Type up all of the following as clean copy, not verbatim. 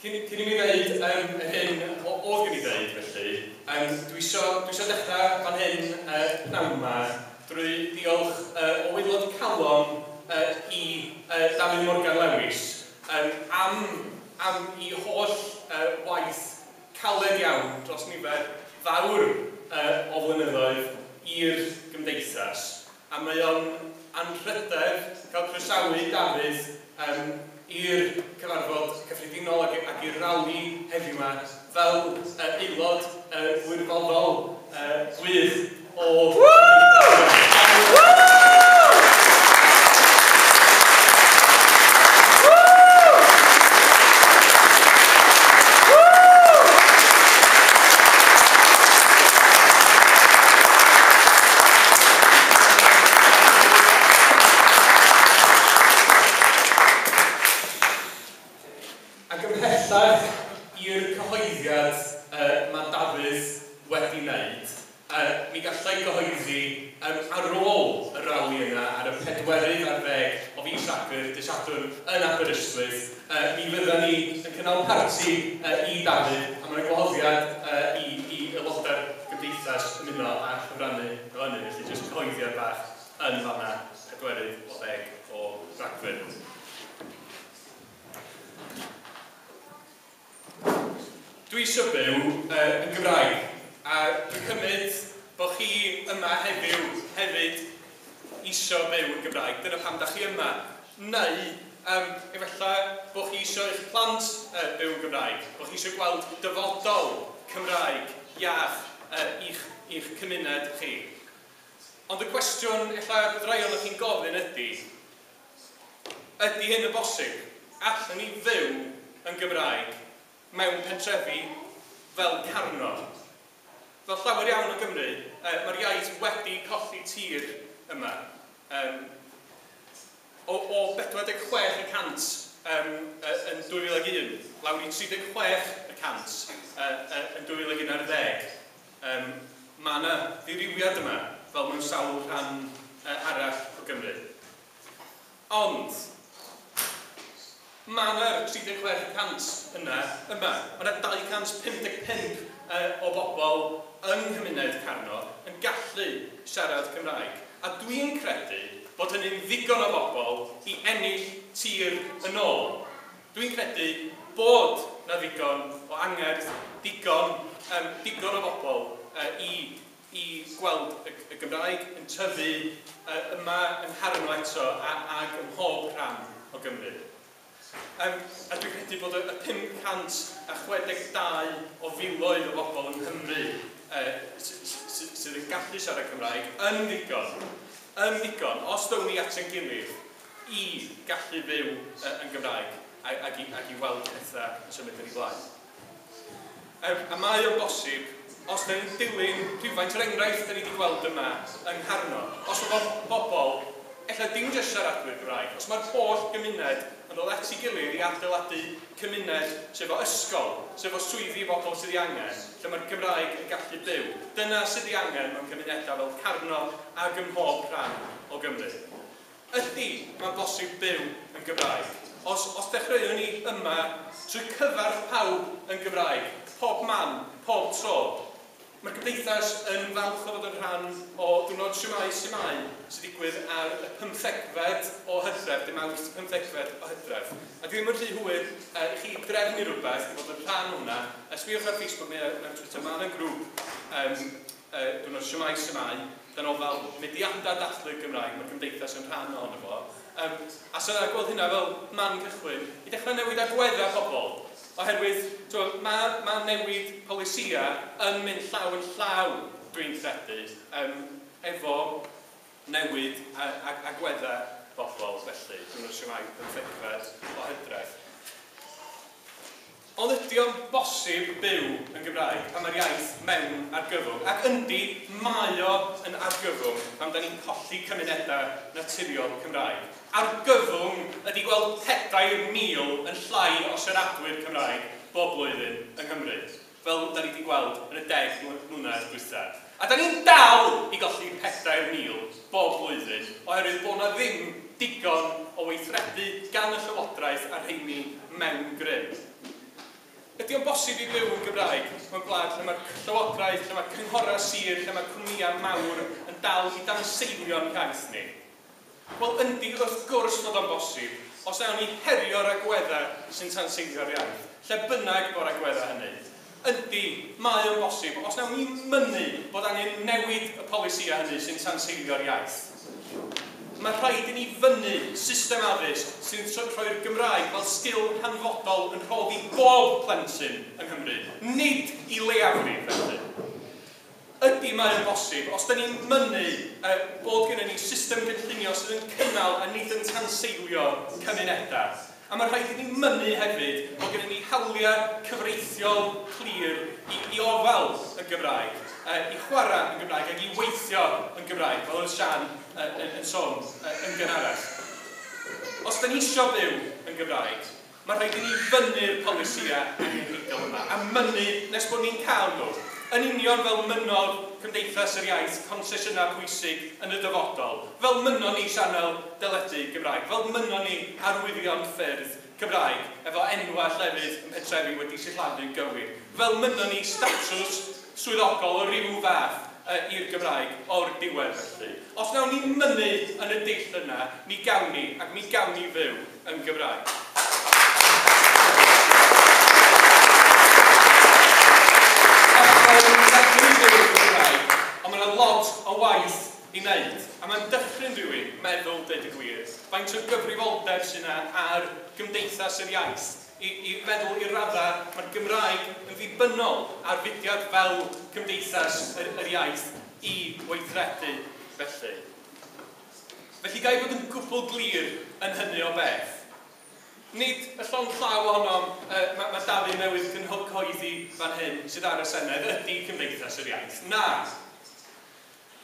Cyn i mi ddeud yr hyn oedd gen i ddeud felly, dwi isio dechrau fan hyn pnawn yma drwy diolch o waelod calon i Dafydd Morgan Lewis am ei holl waith caled iawn dros nifer fawr o flynyddoedd i'r gymdeithas. A mae o'n anrhydedd cael croesawu Dafydd i'r cyfarfod cyffredinol ac i'r rali heddiw yma fel aelod gwirfoddol gwych o... Ac ymhellach i'r cyhoeddiad mae Dafydd wedi wneud, mi gallai gyhoeddi ar ôl y rali yna ar y 24 o fis Rhagfyr, dydd Sadwrn yn Aberystwyth, mi fyddan ni yn cynnal parti i Dafydd, a mae'n gwahoddiad i aelodau'r gymdeithas ymuno a chyfrannu efo hynny, felly jyst cyhoeddiad bach yn fanna, 40 o Ragfyr. Dwi eisiau byw yn Gymraeg, a dwi'n cymryd bod chi yma heddiw hefyd eisiau byw yn Gymraeg. Dyna pam da chi yma. Neu, efallai bod chi eisiau eich plant byw yn Gymraeg, bod chi eisiau gweld dyfodol Cymraeg iach i'ch cymuned chi. Ond y cwestiwn ella bydd rai ohonoch chi'n gofyn ydy hyn yn bosib? Allwn ni fyw yn Gymraeg mewn pentrefi fel Carno? Fel llawer iawn o Gymru, mae'r iaith wedi colli tir yma. O 46% yn 2001, lawr i 36% yn 2011. Mae yna ddirywiad yma, fel mewn sawl rhan arall o Gymru. Ond, mae yna'r 36% yna yma. Mae yna 255 o bobl yng nghymuned Carno yn gallu siarad Cymraeg. A dwi'n credu bod hynny'n ddigon o bobl i ennill tir yn ôl. Dwi'n credu bod na ddigon o angerdd, digon o bobl i gweld y Gymraeg yn tyfu yma yng Ngharno eto ac ym mhob rhan o Gymru. A dwi'n credu bod y 562 o filoedd o bobl yng Nghymru sydd yn gallu siarad Cymraeg yn ddigon, os ddown ni at ein gilydd, i gallu fyw yn Gymraeg ac i weld pethau yn symud yn ei blaen. A mae o'n bosib, os da ni'n dilyn rhywfaint o'r enghraifft da ni wedi gweld yma yng Ngharno, os mae bobl, ella dim jyst siaradwyr Gymraeg, os mae'r holl gymuned yn dod at ei gilydd i adeiladu cymuned sef o ysgol, sef o swyddi i bobl sydd ei angen, lle mae'r Gymraeg yn gallu byw. Dyna sydd ei angen mewn cymunedau fel Carno ac ym mhob rhan o Gymru. Ydy, mae'n bosib byw yn Gymraeg. Os dechreuwn ni yma trwy cyfarch pawb yn Gymraeg, pob man, pob tro, mae'r gymdeithas yn falch o fod yn rhan o Diwrnod Shwmae Su'mae sy'n digwydd ar y 15fed o Hydref, dim Awst, 15fed o Hydref. A dwi ddim yn rhy hwyr i chi drefnu rhywbeth i fod yn rhan o hwnna. Sbïwch ar Facebook neu ar Twitter, mae yna grŵp Diwrnod Shwmae Su'mae, dan ofal mudiadau dathlu'r Gymraeg, mae'r gymdeithas yn rhan ohono fo. A sy'n so, gweld hynna fel man cychwyn i dechrau newid agweddau pobl. Oherwydd mae newid polisïau yn mynd llaw yn llaw, dwi'n credu, efo newid agweddau bobl felly. Dwi'n siarad 15fed o Hydref. Ond ydy o'n bosib byw yn Gymraeg pan mae'r iaith mewn argyfwng? Ac yndi, mae o yn argyfwng pan da ni'n colli cymunedau naturiol Cymraeg. Argyfwng ydy gweld 4,000 yn llai o siaradwyr Cymraeg bob blwyddyn yng Nghymru, fel da ni wedi gweld yn y 10 mlynedd dwytha. A da ni'n dal i golli 4,000 bob blwyddyn oherwydd bod na ddim digon o weithredu gan y Llywodraeth a'r rheini mewn grym. Ydy o'n bosib i fyw yn Gymraeg mewn gwlad lle mae'r llywodraeth, lle mae'r cynghorau sir, lle mae cwmnïau mawr yn dal i danseilio'n iaith ni? Wel, yndi, wrth gwrs fod o'n bosib, os nawn ni herio'r agweddau sy'n tanseilio'r iaith, lle bynnag bo'r agweddau hynny. Yndi, mae o'n bosib, os nawn ni mynnu bod angen newid y polisïau hynny sy'n tanseilio'r iaith. Mae rhaid i ni fynnu system addysg sy'n rhoi'r Gymraeg fel sgil hanfodol yn rhoddi bob plentyn yng Nghymru, nid i leiafrif felly. Ydy mae'n bosib, os da ni'n mynnu bod gennym ni system gynllunio sydd yn cynnal a nid yn tanseilio cymunedau. A mae rhaid i ni mynnu hefyd bod gennym ni hawliau cyfreithiol clir i ofal y Gymraeg, i chwarae yn Gymraeg ac i weithio yn Gymraeg, fel oedd Sian yn sôn yn gynharach. Os da ni eisiau byw yn Gymraeg, mae rhaid i ni fynnu'r polisïau angenrheidiol yma, a mynnu nes bod ni'n cael nhw. Yn union fel mynnodd Cymdeithas yr Iaith consesiynau pwysig yn y dyfodol, fel mynnon ni sianel deledu Gymraeg, fel mynnon ni arwyddion ffyrdd Cymraeg, efo enwau llefydd yn pentrefi wedi sillafu'n gywir, fel mynnon ni statws swyddogol o ryw fath i'r Gymraeg o'r diwedd felly. Os nawn ni mynnu yn y dull yna, mi gawn ni, ac mi gawn ni fyw yn Gymraeg. Ond mae yna lot o waith i wneud, a mae'n dychryn rhywun meddwl, deud y gwir, faint o gyfrifoldeb sydd yna ar Gymdeithas yr Iaith, i feddwl i'r raddau mae'r Gymraeg yn ddibynnol ar fudiad fel Cymdeithas yr Iaith i weithredu felly. Felly ga i fod yn gwbl glir yn hynny o beth. Nid y llond llaw ohonom mae Dafydd newydd cyhoeddi fan hyn sydd ar y Senedd ydy Cymdeithas yr Iaith. Na!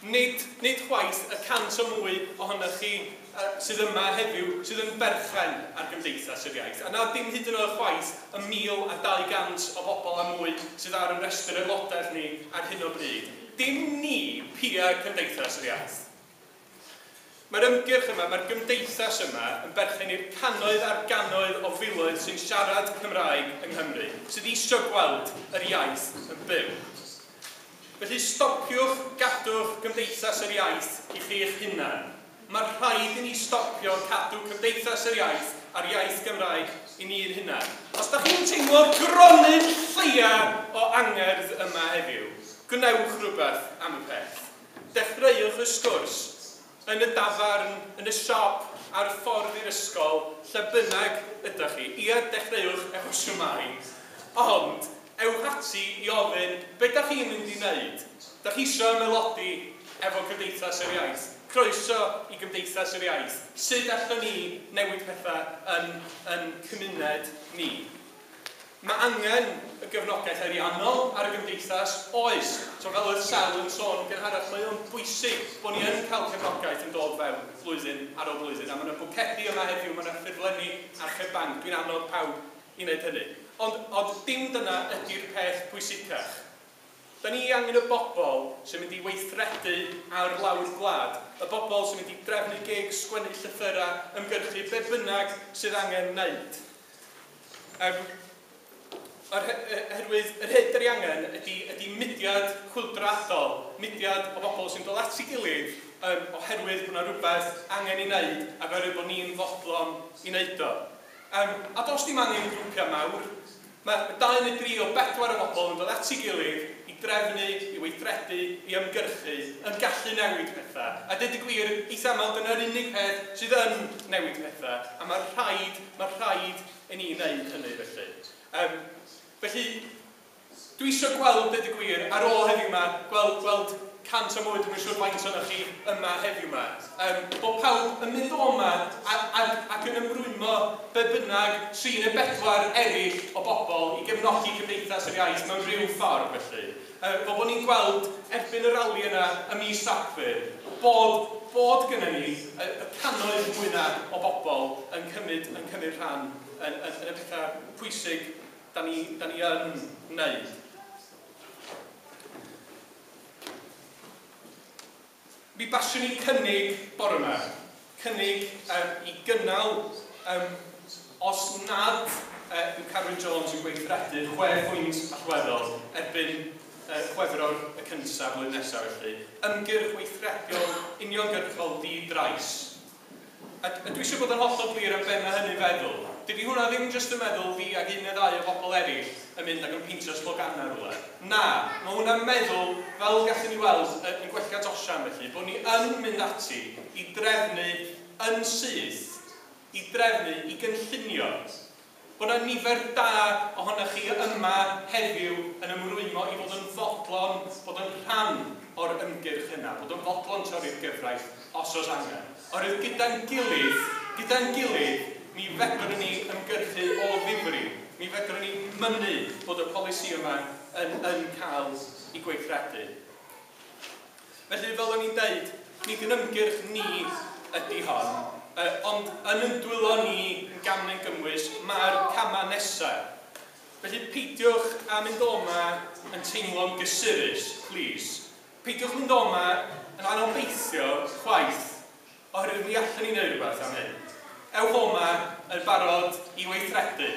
Nid chwaith y 100 o mwy ohonoch chi sydd yma heddiw sydd yn berchen ar Gymdeithas yr Iaith. A na dim hyd yn oed chwaith y 1,200 o bobl a mwy sydd ar y rhestr aelodaeth ni ar hyn o bryd. Dim ni pia Cymdeithas yr Iaith. Mae'r ymgyrch yma, mae'r gymdeithas yma yn berchen i'r cannoedd ar gannoedd o filoedd sy'n siarad Cymraeg yng Nghymru, sydd eisiau gweld yr iaith yn byw. Felly stopiwch, gadwch Cymdeithas yr Iaith i chi'ch hunan. Mae rhaid i ni stopio cadw Cymdeithas yr Iaith a'r iaith Gymraeg i ni'n hunan. Os da chi'n teimlo'r gronyn lleia o angerdd yma heddiw, gwnewch rhywbeth am y peth. Dechreuwch y sgwrs yn y dafarn, yn y siop, ar y ffordd i'r ysgol, lle bynnag ydych chi. Ia, dechreuwch efo siwmai, ond ewch ati i ofyn, be da chi'n mynd i wneud? Da chi eisiau ymaelodi efo Cymdeithas yr Iaith? Croeso i Gymdeithas yr Iaith. Sut allwn ni newid pethau yn cymuned ni? Mae angen y gefnogaeth ariannol ar y gymdeithas, oes. So fel oedd Sel yn sôn gynharach, mae o'n bwysig bod ni yn cael cefnogaeth yn dod fewn flwyddyn ar ôl blwyddyn. A mae yna bwcedi yma heddiw, mae yna ffurflenni archeb banc. Dwi'n annog pawb i wneud hynny. Ond dim dyna ydy'r peth pwysicach. Da ni angen y bobl sy'n mynd i weithredu ar lawr gwlad. Y bobl sy'n mynd i drefnu gigs, sgwennu llythyrau, ymgyrchu, be bynnag sydd angen wneud. Oherwydd yr hyn 'dan ni angen ydy mudiad chwyldroadol, mudiad o bobl sy'n dod at ei gilydd oherwydd bod yna rhywbeth angen ei wneud ac oherwydd bod ni'n fodlon i wneud o. A does dim angen grwpiau mawr. Mae 2 neu 3 o 4 o bobl yn dod at ei gilydd i drefnu, i weithredu, i ymgyrchu, yn gallu newid pethau. A dweud y gwir, eitha aml dyna'r unig peth sydd yn newid pethau. A mae rhaid i ni wneud hynny felly. Felly, dwi eisiau gweld, dweud y gwir, ar ôl heddiw yma, gweld 100 o mwy, dwi'n siŵr faint ohonoch chi yma heddiw yma. Bod pawb yn mynd o yma ac yn ymrwymo be bynnag 3 neu 4 eraill o bobl i gefnogi Cymdeithas yr Iaith mewn rhyw ffordd felly. Bod ni'n gweld erbyn y rali yna ym mis Rhagfyr, bod gynnon ni y cannoedd mwy na o bobl yn cymryd rhan yn y pethau pwysig da ni yn wneud. Mi baswn i cynnig bore yma, cynnig i gynnal Os nad yw Carwyn Jones yn gweithredu 6 pwynt allweddol erbyn Chwefror y cyntaf blwyddyn nesaf felly, ymgyrch weithredol uniongyrchol di-drais. A dwi eisiau bod yn hollol glir am be mae hynny'n feddwl. Dydy hwnna ddim jyst yn meddwl fi ac un neu ddau o bobl eraill yn mynd ac yn peintio sloganau rhywle. Na, mae hwnna'n meddwl, fel gallwn ni weld yn gwelliant Osian felly, bod ni yn mynd ati i drefnu yn syth, i drefnu, i gynllunio. Bod yna nifer da ohonoch chi yma heddiw yn ymrwymo i fod yn fodlon, bod yn rhan o'r ymgyrch yna, bod yn fodlon torri'r gyfraith os oes angen. Oherwydd gyda'n gilydd, mi fedrwn ni ymgyrchu o ddifri. Mi fedrwn ni mynnu bod y polisi yma yn cael ei gweithredu. Felly, fel o'n i'n deud, nid yn ymgyrch ni ydy hon, ond yn yn dwylo ni yn gam neu'n gymwys, mae'r camau nesaf. Felly peidiwch â mynd o'ma yn teimlo'n gysurus, please. Peidiwch mynd o'ma yn anobeithio chwaith, oherwydd mi allwn ni wneud rhywbeth am hyn. Ewch o'ma yn barod i weithredu.